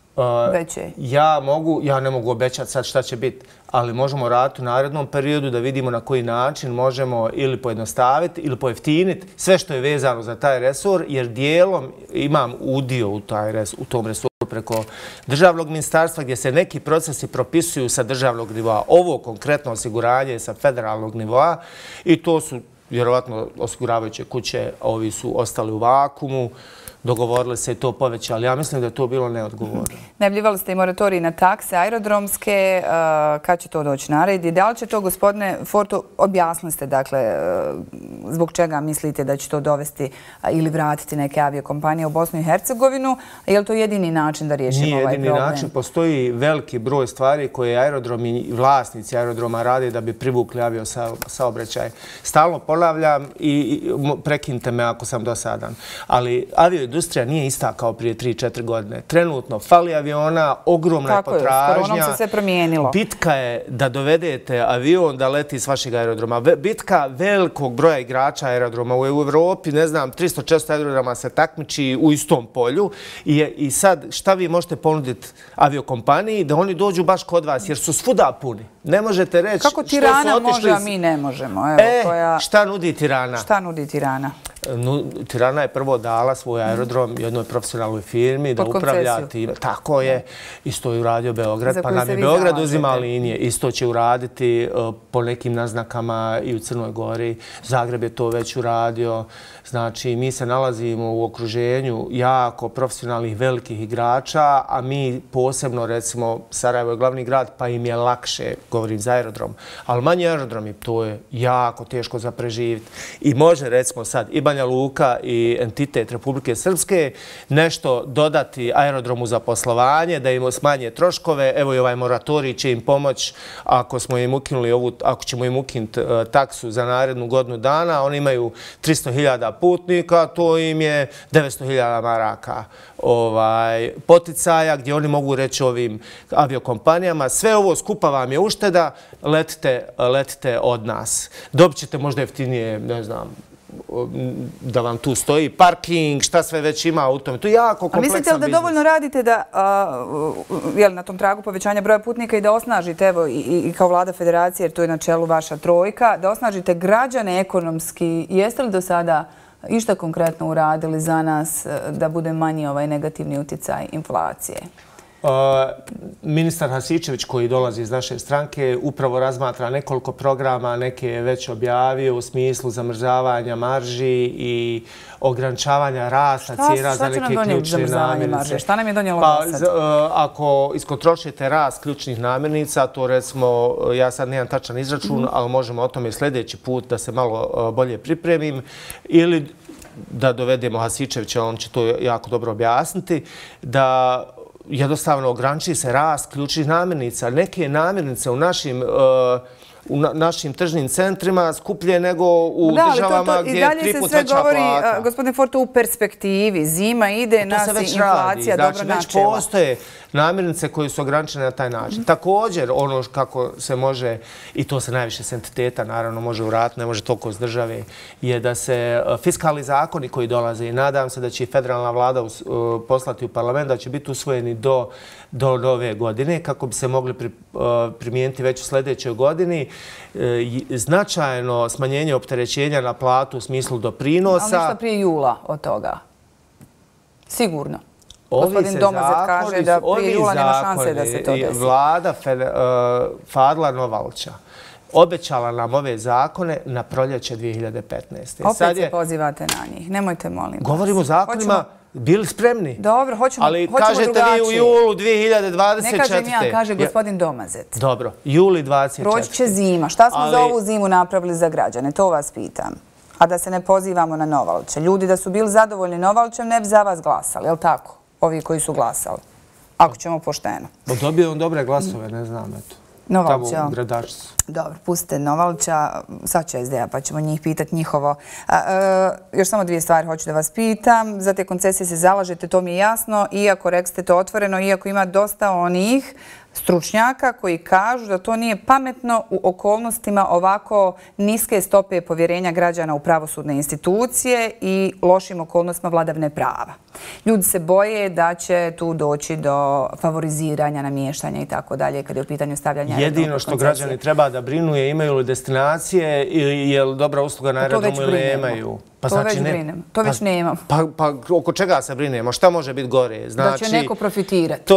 [SPEAKER 1] veće?
[SPEAKER 2] Uh, ja mogu, ja ne mogu obećati sad šta će biti, ali možemo raditi u narednom periodu da vidimo na koji način možemo ili pojednostaviti ili pojeftiniti sve što je vezano za taj resor, jer dijelom imam udio u, taj res, u tom resoru preko državnog ministarstva gdje se neki procesi propisuju sa državnog nivoa. Ovo konkretno osiguranje je sa federalnog nivoa i to su vjerovatno osiguravajuće kuće, ovi su ostali u vakumu, dogovorili se i to povećali. Ja mislim da je to bilo neodgovorno.
[SPEAKER 1] Najavljivali ste i moratorij na takse aerodromske. Kad će to doći na red? I da li će to, gospodine Forto, objasnili ste, dakle, zbog čega mislite da će to dovesti ili vratiti neke aviokompanije u Bosnu i Hercegovinu? Je li to jedini način da riješimo ovaj problem?
[SPEAKER 2] Nije jedini način. Postoji veliki broj stvari koje aerodromi i vlasnici aerodroma rade da bi privukli aviosaobraćaj. Stalno ponavljam i prekinite me ako sam dosadan. Ali avio industrija nije ista kao prije tri četiri godine. Trenutno fali aviona, ogromna je potražnja.
[SPEAKER 1] Tako je, s koronom se sve promijenilo.
[SPEAKER 2] Bitka je da dovedete avion da leti s vašeg aerodroma. Bitka velikog broja igrača aerodroma u Evropi, ne znam, tristo četiristo aerodroma se takmiči u istom polju. I, i sad šta vi možete ponuditi aviokompaniji da oni dođu baš kod vas, jer su svuda puni. Ne možete reći
[SPEAKER 1] kako Tirana može, a mi ne možemo. Evo,
[SPEAKER 2] e,
[SPEAKER 1] koja...
[SPEAKER 2] šta nudi Tirana?
[SPEAKER 1] Šta nudi Tirana?
[SPEAKER 2] Tirana je prvo dala svoj aerodrom jednoj profesionalnoj firmi da upravlja tim. Tako je. Isto je uradio Beograd, pa nam je Beograd uzima linije. Isto će uraditi po nekim naznakama i u Crnoj Gori. Zagreb je to već uradio. Znači, mi se nalazimo u okruženju jako profesionalnih velikih igrača, a mi posebno, recimo, Sarajevo je glavni grad, pa im je lakše, govorim za aerodrom. Ali manji aerodromi, to je jako teško za preživiti. I može, recimo, sad i Banja Luka i entitet Republike Srpske nešto dodati aerodromu za poslovanje, da im smanje troškove. Evo i ovaj moratorij će im pomoći ako smo im ukinuli ovu, ako ćemo im ukinuti taksu za narednu godinu dana. Oni imaju tristo hiljada putnika, to im je devetsto hiljada maraka ovaj, poticaja gdje oni mogu reći ovim aviokompanijama sve ovo skupa vam je ušteda, letite, letite od nas. Dobit ćete možda jeftinije, ne znam, da vam tu stoji parking, šta sve već ima u tome. To je jako kompleksan biznis.
[SPEAKER 1] Mislite li da dovoljno radite da, jel, na tom tragu povećanja broja putnika i da osnažite, evo, i, i kao vlada federacije, jer to je na čelu vaša trojka, da osnažite građane ekonomski? Jeste li do sada išta konkretno uradili za nas da bude manji ovaj negativni utjecaj inflacije?
[SPEAKER 2] Uh, ministar Hasičević koji dolazi iz naše stranke upravo razmatra nekoliko programa, neke je već objavio u smislu zamrzavanja marži i ograničavanja rasta cijena za neke ključne namirnice.
[SPEAKER 1] Šta nam je donijelo
[SPEAKER 2] pa,
[SPEAKER 1] do sad?
[SPEAKER 2] Uh, ako iskontrolišete rast ključnih namirnica, to recimo, ja sad nemam tačan izračun, mm-hmm. ali možemo o tome sljedeći put da se malo uh, bolje pripremim, ili da dovedemo Hasičevića, on će to jako dobro objasniti, da jednostavno ograniči se rast ključnih namirnica. Neke namirnice u našim u našim tržnim centrima skuplje nego u da, državama to, to, gdje je tri put veća plata. I dalje se sve govori, gospodine Forto, u perspektivi. Zima ide, nas i inflacija dobro načela. Znači, već postoje namirnice koje su ograničene na taj način. Mm. Također, ono kako se može, i to se najviše s entiteta naravno može uraditi, ne može toliko s države, je da se fiskalni zakoni koji dolaze, i nadam se da će i federalna vlada poslati u parlament, da će biti usvojeni do, do nove godine, kako bi se mogli pri, primijeniti već u sljedećoj godini. Značajno smanjenje opterećenja na platu u smislu doprinosa.
[SPEAKER 1] Ali ništa prije jula od toga? Sigurno. Gospodin Domazet kaže da prije jula nema šanse da se to desi.
[SPEAKER 2] Vlada Fadla Novalća obećala nam ove zakone na proljeće dvije hiljade petnaeste.
[SPEAKER 1] Opet se pozivate na njih. Nemojte, molim.
[SPEAKER 2] Govorimo o zakonima, bili spremni.
[SPEAKER 1] Dobro, hoćemo drugačije.
[SPEAKER 2] Ali kažete vi u julu dvije hiljade dvadeset četvrte.
[SPEAKER 1] Ne kažem ja, kaže gospodin Domazet.
[SPEAKER 2] Dobro, juli dvadeset četvrte.
[SPEAKER 1] Proći će zima. Šta smo za ovu zimu napravili za građane? To vas pitam. A da se ne pozivamo na Novalče. Ljudi da su bili zadovoljni Novalčem ne bi za vas glasali, je li tako? Ovi koji su glasali. Ako ćemo pošteno.
[SPEAKER 2] Dobio on dobre glasove, ne znam, eto.
[SPEAKER 1] Novalča.
[SPEAKER 2] Tamo u Gradačcu.
[SPEAKER 1] Dobro, pustite Novalča, sad će es de a pa ćemo njih pitati njihovo. Još samo dvije stvari hoću da vas pitam. Za te koncesije se zalažete, to mi je jasno, iako rekste to otvoreno, iako ima dosta onih stručnjaka koji kažu da to nije pametno u okolnostima ovako niske stope povjerenja građana u pravosudne institucije i lošim okolnostima vladavne prava. Ljudi se boje da će tu doći do favoriziranja, namještanja i tako dalje kad je u pitanju stavljanja aerodroma.
[SPEAKER 2] Jedino što građani treba da brinu je imaju li destinacije ili je li dobra usluga na aerodromu ili nemaju.
[SPEAKER 1] To već brinem. To već nemam.
[SPEAKER 2] Pa oko čega se brinemo? Šta može biti gore?
[SPEAKER 1] Da će neko profitirati.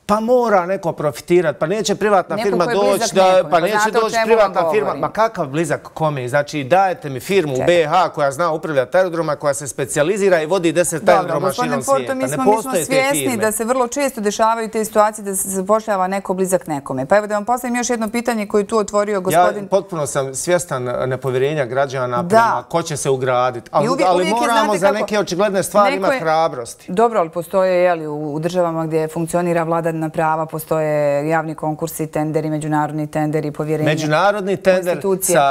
[SPEAKER 2] Pa mora neko profitirati, pa neće privatna firma doći da... Pa neće doći privatna firma, ma kakav blizak kome? Znači dajete mi firmu u be ha koja zna upravljati aerodroma, koja se specijalizira i vodi deset aerodroma širom svijeta. Ne postoje te firme.
[SPEAKER 1] Mi smo svjesni da se vrlo često dešavaju te situacije da se zapošljava neko blizak nekome. Pa evo da vam postavim još jedno pitanje koje je tu otvorio gospodin...
[SPEAKER 2] Ja potpuno sam svjestan nepovjerenja građana prema ko će se ugraditi. Ali moramo za neke očigledne stvari imati hrabrosti.
[SPEAKER 1] Dobro, ali postoje u državama gdje funkcionira vladavina prava, postoje javni konkursi, tenderi, međunarodni tenderi, povjerenje.
[SPEAKER 2] Međunarodni tender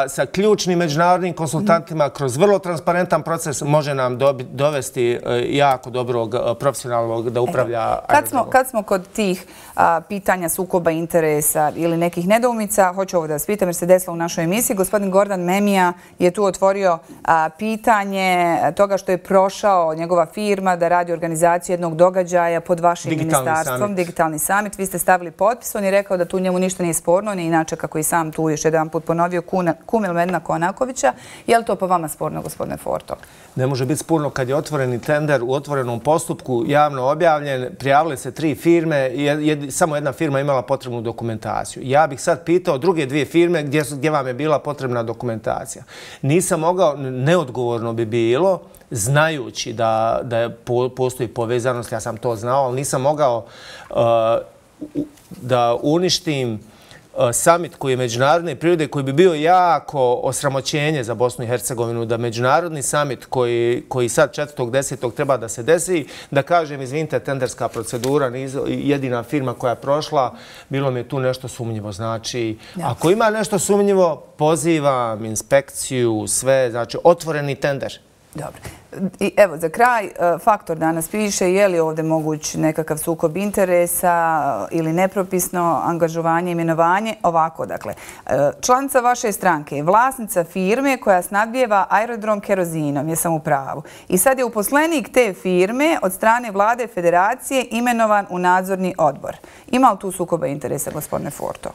[SPEAKER 2] sa ključnim međunarodnim konsultantima kroz vrlo transparentan proces može nam dovesti jako dobrog profesionalnog da upravlja aerodromom.
[SPEAKER 1] Kad smo kod tih pitanja sukoba interesa ili nekih nedoumica, hoću ovo da vas pitam jer se desilo u našoj emisiji, gospodin Gordan Memija je tu otvorio pitanje toga što je prošao njegova firma da radi organizaciju jednog događaja pod vašim ministarstvom, digitalni summit. Vi ste stavili potpis, on je rekao da tu njemu ništa nije sporno, on je inače, kako i sam tu još jedan put ponovio, kumil Medna Konakovića. Je li to po vama sporno, gospodine Forto?
[SPEAKER 2] Ne može biti sporno kad je otvoreni tender u otvorenom postupku, javno objavljen, prijavile se tri firme, samo jedna firma imala potrebnu dokumentaciju. Ja bih sad pitao druge dvije firme gdje vam je bila potrebna dokumentacija. Nisam mogao, neodgovorno bi bilo, znajući da postoji povezanost, ja sam to znao, ali nisam mogao da uništim summit koji je međunarodne prirode, koji bi bio jako osramoćenje za Bosnu i Hercegovinu, da međunarodni summit koji sad četvrtog desetog treba da se desi, da kažem, izvinite, tenderska procedura, jedina firma koja je prošla, bilo mi je tu nešto sumnjivo. Znači, ako ima nešto sumnjivo, pozivam inspekciju, sve, znači, otvoreni tender.
[SPEAKER 1] Dobro. I evo, za kraj, Faktor danas piše je li ovdje moguć nekakav sukob interesa ili nepropisno angažovanje, imenovanje. Ovako, dakle, članica vaše stranke je vlasnica firme koja snabdijeva aerodrom kerozinom, jesam u pravu. I sad je uposlenik te firme od strane vlade federacije imenovan u nadzorni odbor. Ima li tu sukoba interesa, gospodine Forto?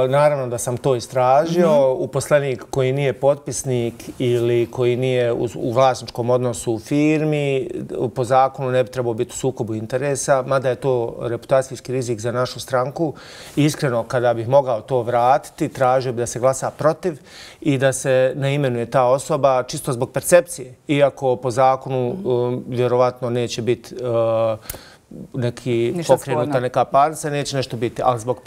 [SPEAKER 2] Naravno da sam to istražio. Uposlenik koji nije potpisnik ili koji nije u vlasničkom odnosu u firmi, po zakonu ne bi trebao biti u sukobu interesa, mada je to reputacijski rizik za našu stranku. Iskreno, kada bih mogao to vratiti, tražio bi da se glasa protiv i da se ne imenuje ta osoba čisto zbog percepcije. Iako po zakonu vjerovatno neće biti neki pokrenuta neka parnica, neće nešto biti. Ali zbog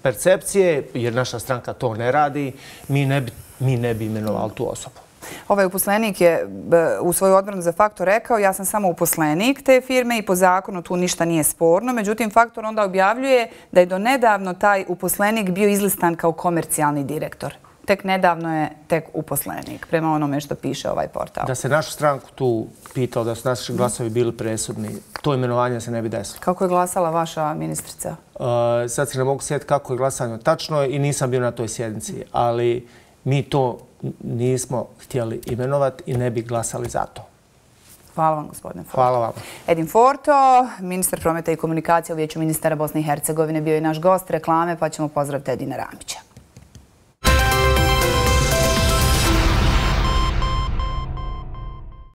[SPEAKER 2] percepcije, jer naša stranka to ne radi, mi ne bi imenovali tu osobu.
[SPEAKER 1] Ovaj uposlenik je u svoju odbranu za Faktor rekao ja sam samo uposlenik te firme i po zakonu tu ništa nije sporno. Međutim, Faktor onda objavljuje da je do nedavno taj uposlenik bio izlistan kao komercijalni direktor. Tek nedavno je tek uposlenik, prema onome što piše ovaj portal.
[SPEAKER 2] Da se našu stranku tu pitao da su naši glasovi bili presudni, to imenovanje se ne bi desilo.
[SPEAKER 1] Kako je glasala vaša ministrica?
[SPEAKER 2] Sad se ne mogu sjetiti kako je glasanje tačno i nisam bio na toj sjednici, ali mi to nismo htjeli imenovati i ne bi glasali za to.
[SPEAKER 1] Hvala vam, gospodine Forto.
[SPEAKER 2] Hvala vam.
[SPEAKER 1] Edin Forto, ministar prometa i komunikacije u Vijeću ministara Bosne i Hercegovine, bio je naš gost reklame, pa ćemo pozdraviti Edina Ramića.